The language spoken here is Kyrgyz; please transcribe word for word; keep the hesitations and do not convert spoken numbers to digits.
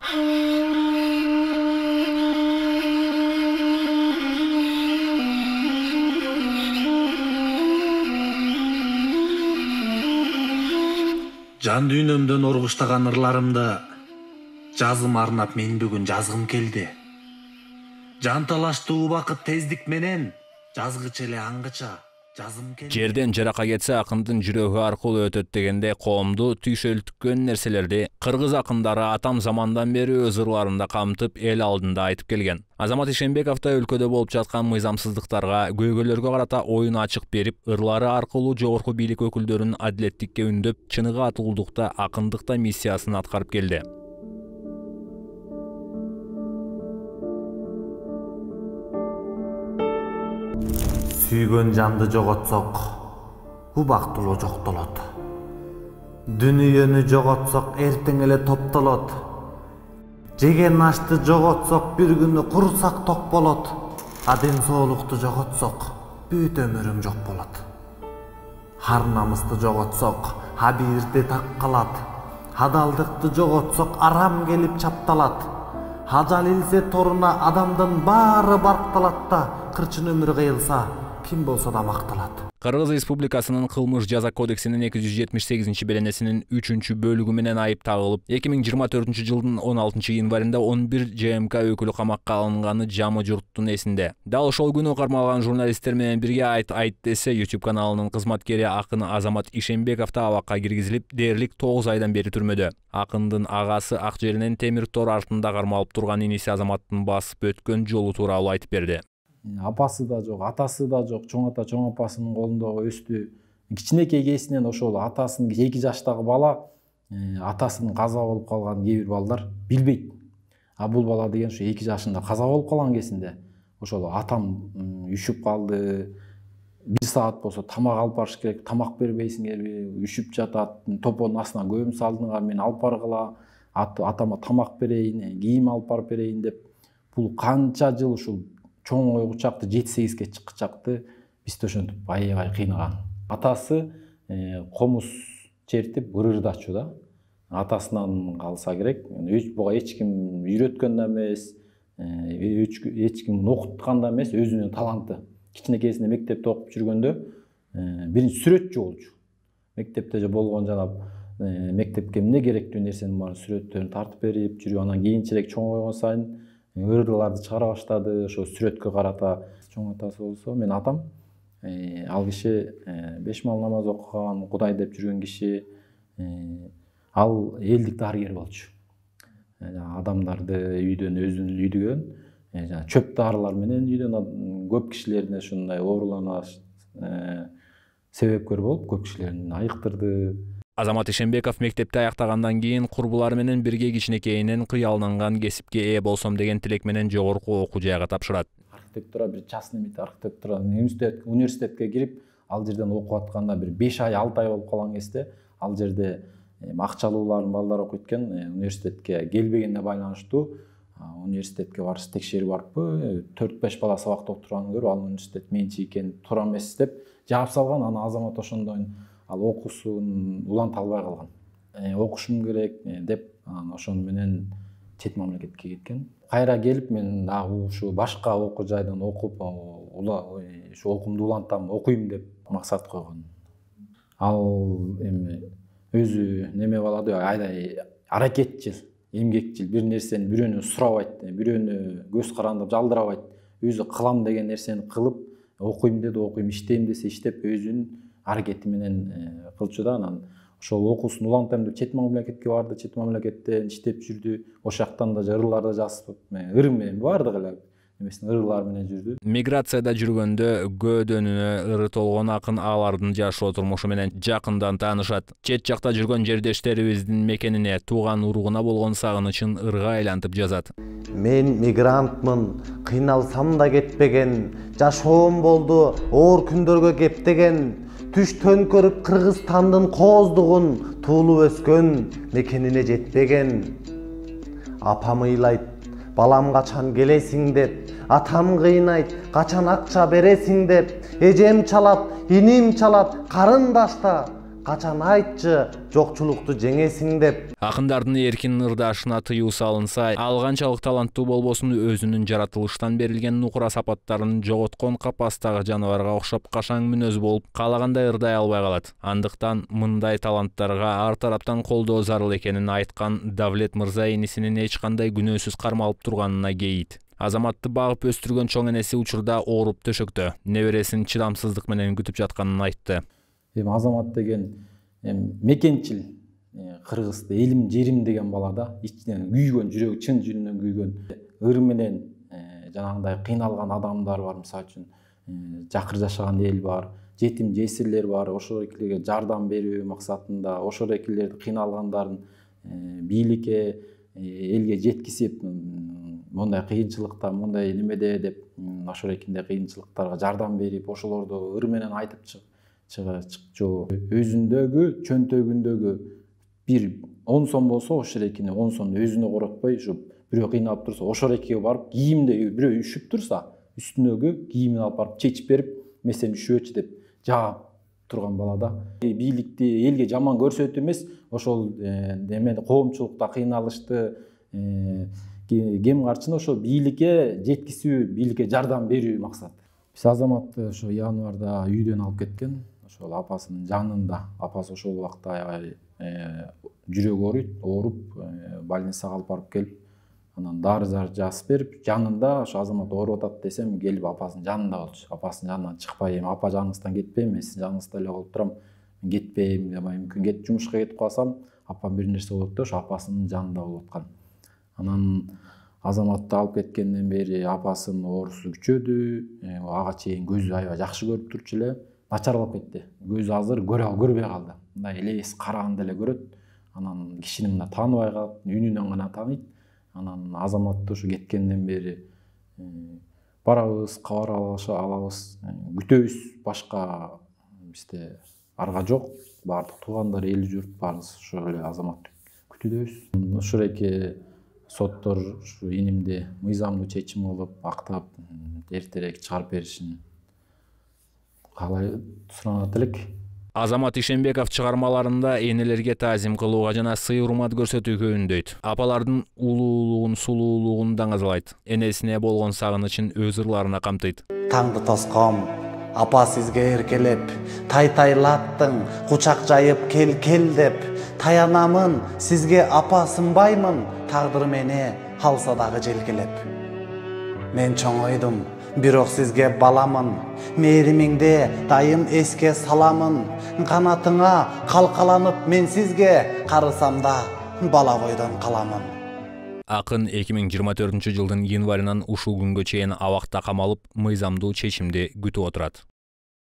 Жан дүйнөмдөн оргуштаган ырларымды жазым арнап мен бүгүн жазгым келди. Жан талаштуу убакыт тездик менен жазгыча эле аңгыча жазым келди. Жерден жарака кетсе акындын жүрөгү аркылуу өтөт дегенде коомду түйшөлтүккөн нерселерди кыргыз акындары атам замандан бери өз ырларында камтып эл алдында айтып келген. Азамат Ишенбеков да өлкөдө болуп жаткан мыйзамсыздыктарга, көйгөйлөргө карата оюн ачык берип, ырлары аркылуу жогорку бийлик өкүлдөрүн адилеттикке үндөп, чыныгы атуулдукта, акындыкта миссиясын аткарып келди. Сүйгөн жанды жоготсок, убактылуу жоктолот. Дүнүйөнү жоготсок, эртең эле топтолот. Жеген ашты жоготсок, бир күнү курсак ток болот. А ден соолукту жоготсок, бүт өмүрүң жок болот. Ар намысты жоготсок, абийирде так калат. Адалдыкты жоготсок, арам келип чапталат. Ажал илсе торуна адамдын баары баркталат да, кырчын өмүр кыйылса, ким болсо да макталат. Кыргыз Республикасынын кылмыш жаза кодексинин эки жүз жетимиш сегизинчи беренесинин үчүнчү бөлүгү менен айып тагылып, эки миң жыйырма төртүнчү жылдын он алтынчы январында он бир ЖМК өкүлү камакка алынганы жамы журттун эсинде. Дал ошол күнү кармалган журналисттер менен бирге Айт Айт десе YouTube каналынын кызматкери акын Азамат Ишенбеков да абакка киргизилип, дээрлик тогуз айдан бери түрмөдө. Акындын агасы ак жеринен темир тор артында кармалып турган иниси Азаматтын басып өткөн жолу тууралуу айтып берди. Апасы да жок, атасы да жок, чоң ата чоң апасынын колунда өстү. Кичинекей кезинен ошол атасынын эки жаштагы бала атасынын каза болуп калганын кээ бир балдар билбейт. А бул бала деген ушу эки жашында каза болуп калган кезинде ошол атам үшүп калды. бир саат болсо тамак алып барыш керек, тамак бербейсиңерби, үшүп жатат, топонун астына көм салдыңар, мен алып баргыла, атама тамак берейин, кийим алып барып берейин деп. Бул канча жыл ушул чоң ойгучакты жети сегизге чыккычакты бизди ошентип аябай кыйнаган. Атасы комуз чертип ырырдачу да. Атасынан калса керек. Буга эч ким үйрөткөн да эмес, эч ким окуткан да эмес, өзүнүн таланты. Кичинекейсинде мектепте окуп жүргөндө биринчи сүрөтчү болчу. Мектепте же болгон жанап мектепке эмне керектүү нерсенин баарын сүрөттөрүн тартып берип жүрүп, анан кийинчерээк чоңойгон сайын ырдыларды чыгара баштады, ошо сүрөткө карата. Чоң атасы болсо, мен атам, ал киши беш мал намаз окуган, Кудай деп жүргөн киши, ал элдик дарыгер болчу. Адамдарды үйдөн өзүн үйдүгөн, чөп дарылар менен үйдөн көп кишилердин ушундай оорулана себепкөр болуп, көп кишилерин айыктырды. Азамат Ишенбеков мектепти аяктагандан кийин курбулары менен бирге кичинекейинен кыялданган кесипке ээ болсом деген тилек менен жогорку окуу жайга тапшырат. Архитектура бир частный мит архитектура университетке кирип, ал жерден окуп атканда бир беш ай, алты ай болуп калган кезде, ал жерде акчалуулардын балдары окуйт экен, университетке келбегенине байланыштуу университетке барып текшерип барыппы, төрт беш бала сабакта отурганын көрүп, ал университет менчи экен, туура эмес деп жаап салган. Аны Азамат ошондон ал окуусун уланта албай калган. Окушум керек деп, ошону менен чет мамлекетке кеткен. Кайра келип, мен дагы ушу башка окуу жайдан окуп, ушу окуумду улантам, окуйм деп максат койгон. Ал эми өзү неме балады, айдай аракетчил, эмгекчил, бир нерсени бирөөнөн сурабайт, бирөөнү көз карандырып жалдырабайт. Өзү кылам деген нерсени кылып, окуйм деди, окуйм, иштейм десе иштеп, өзүнүн аракети менен кылчу да. Анан ошол окуусун улантам деп чет мамлекетке барды, чет мамлекетте иштеп жүрдү. Ошол жактан да ырларды жазып, ыр менен баардык эле эмесин ырлар менен жүрдү. Миграцияда жүргөндө көөдөнүнө ыры толгон акын алардын жашоо турмушу менен жакындан таанышат. Чет жакта жүргөн жердештерибиздин мекенине, тууган уругуна болгон сагынычын ырга айлантып жазат. Мен мигрантмын, кыйналсам да кетпеген, жашоом болду оор күндөргө кептеген. Түш төңкөрүп Кыргызстандын кооздугун, туулуп өскөн мекенине жетпеген. Апам ыйлайт, балам качан келесиң деп, атам кыйнайт, качан акча бересиң деп, эжем чалат, иним чалат, карындашта качан айтчы жокчулукту жеңесиң деп. Акындардын эркин ырдашына тыюу салынса, ал канчалык таланттуу болбосун өзүнүн жаратылыштан берилген нукура сапаттарын жоготкон капастагы жаныбарга окшоп кашаң мүнөз болуп, каалагандай ырдай албай калат. Андыктан мындай таланттарга ар тараптан колдоо зарыл экенин айткан Давлет мырза энисинин эч кандай күнөөсүз кармалып турганына кейит. Азаматты багып өстүргөн чоң энеси учурда ооруп төшөктө, небересин чыдамсыздык менен күтүп жатканын айтты. Эми Азамат деген мекенчил, кыргызды элим жерим деген бала да, ичинен күйгөн, жүрөгү чын жүрүнөн күйгөн, ыр менен жанагындай кыйналган адамдар бар, мисалы үчүн жакыр жашаган эл бар, жетим жесирлер бар, ошол экилерге жардам берүү максатында, ошол экилерди кыйналгандарын бийликке, элге жеткизип, мондай кыйынчылыкта, мондай немеде деп, ошол экинде кыйынчылыктарга жардам берип, ошолорду ыр менен айтып чыгчу. Өзүндөгү, чөнтөгүндөгү бир он сом болсо, ошол экини он сомду өзүнө коротпой, ушу бирөө кыйналып турса, ошол экиге барып, кийимде бирөө үшүп турса, үстүнөгү кийимин алып барып чечип берип, мен сени үшүбөчү деп жаап турган бала да. Бийликти элге жаман көрсөтүү эмес, ошол немени коомчулукта кыйналышты кем карчыны ошол бийликке жеткизүү, бийликке жардам берүү максат. Биз Азаматты ошо январда үйдөн алып кеткен, ошол апасынын жанында. Апасы ошол убакта аябай жүрөгү ооруйт, ооруп, больницага алып барып келип, анан дары-зар жазып берип, жанында ошо Азамат ооруп атат десем, келип апасынын жанында болчу. Апасынын жанынан чыкпай, эми апа жаныңыздан кетпейм, мен сиздин жаныңызда эле болуп турам. Мен кетпейм, мүмкүн кет жумушка кетип калсам, апам бир нерсе болот деп, ошо апасынын жанында болуп аткан. Анан Азаматты алып кеткенден бери апасынын оорусу күчөдү, ага чейин көзү аябай жакшы көрүп турчу эле, начарлап кетти. Көзү азыр көрө көрбөй калды. Мындай элес караганда эле көрөт. Анан кишини мына тааныбай калат, үнүнөн гана тааныйт. Анан Азаматты ушу кеткенден бери барабыз, кабар алабыз, күтөбүз, башка бизде арга жок. Баардык туугандар, эл журт баарыбыз ошол эле Азаматты күтүүдөбүз. Ушул эки соттор ушу инимди мыйзамдуу чечим кылып, актап, эртерээк чыгарып беришин каалай суранат элек. Азамат Ишенбеков чыгармаларында энелерге таазим кылууга жана сый-урмат көрсөтүүгө үндөйт. Апалардын улуулугун, сулуулугун даңазалайт. Энесине болгон сагынычын өз ырларына камтыйт. Таңды тоском, апа сизге эркелеп, тай-тайлаттың, кучак жайып кел-кел деп, таянамын, сизге апа сынбаймын, тагдыр мени алса дагы желкелеп. Мен чоңойдум, бирок сизге баламын, мээримиңди дайым эске саламын, канатыңа калкаланып мен сизге карысам да бала бойдон каламын. Акын эки миң жыйырма төртүнчү жылдын январынан ушул күнгө чейин абакта камалып, мыйзамдуу чечимди күтүп отурат.